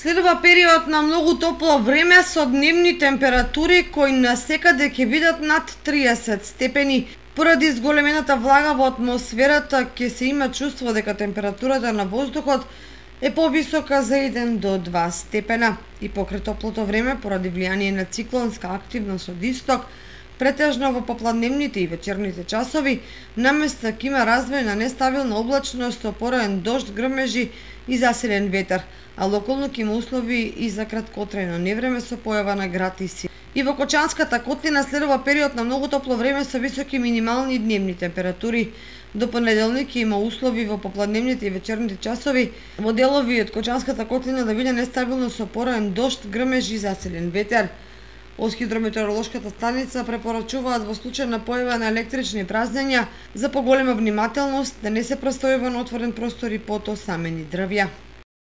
Следува период на многу топло време со дневни температури кои насекаде ќе бидат над 30 степени. Поради зголемената влага во атмосферата ќе се има чувство дека температурата на воздухот е повисока за 1 до 2 степена. И покрај топлото време, поради влијание на циклонска активност од исток, претежно во попладневните и вечерните часови, наместа ќе има развој на нестабилна облачност со пороен дожд, грмежи и засилен ветер, а локално ќе има услови и за краткотрајно невреме со појава на град и сил. И во Кочанската котлина следува период на многу топло време со високи минимални дневни температури. До понеделник ќе има услови во попладневните и вечерните часови во делови од Кочанската котлина да биде нестабилно со пороен дожд, грмежи и засилен ветер. Од хидрометеоролошката станица препорачуваат во случај на појава на електрични празнења за поголема внимателност да не се престојува на отворен простор и под осамени дрвја.